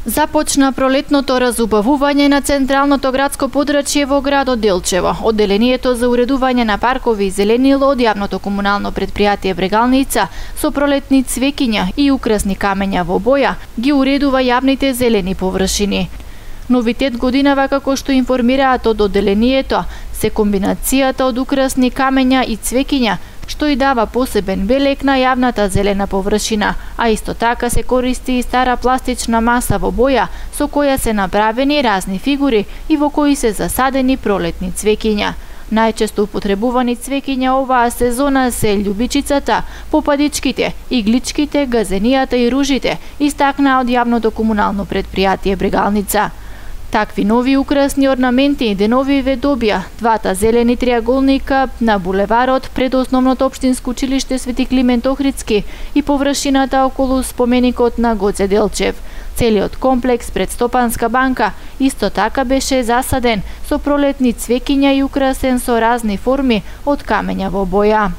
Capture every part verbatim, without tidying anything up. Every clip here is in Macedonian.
Започна пролетното разубавување на централното градско подрачје во градот Делчево. Одделението за уредување на паркови и зеленило од јавното комунално предпријатие Брегалница со пролетни цвеќиња и украсни камења во боја ги уредува јавните зелени површини. Новитет годинава, како што информираат од одделението, се комбинацијата од украсни камења и цвеќиња, што и дава посебен белег на јавната зелена површина, а исто така се користи и стара пластична маса во боја со која се направени разни фигури и во кои се засадени пролетни цвеќиња. Најчесто употребувани цвеќиња оваа сезона се љубичицата, попадичките, игличките, газенијата и ружите, истакна од јавното комунално предпријатие Брегалница. Такви нови украсни орнаменти денови ве добија двата зелени триаголника на булеварот пред основното општинско училиште Свети Климент Охридски и површината околу споменикот на Гоце Делчев. Целиот комплекс пред Стопанска банка исто така беше засаден со пролетни цвеќиња и украсен со разни форми од камења во боја.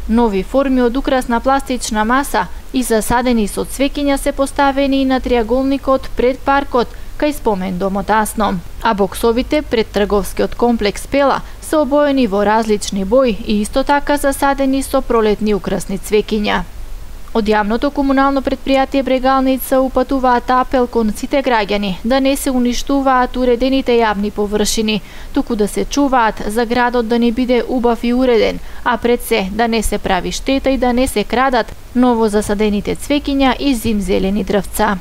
Нови форми од украсна пластична маса и засадени со цвеќиња се поставени и на триаголникот пред паркот кај спомен домот Асно, а боксовите пред трговскиот комплекс Пела се обоени во различни бои и исто така засадени со пролетни украсни цвеќиња. Од јавното комунално предпријатие Брегалница упатуваат апел кон сите граѓани да не се уништуваат уредените јавни површини, туку да се чуваат за градот да не биде убав и уреден, а пред се да не се прави штета и да не се крадат ново засадените цвеќиња и зимзелени дрвца.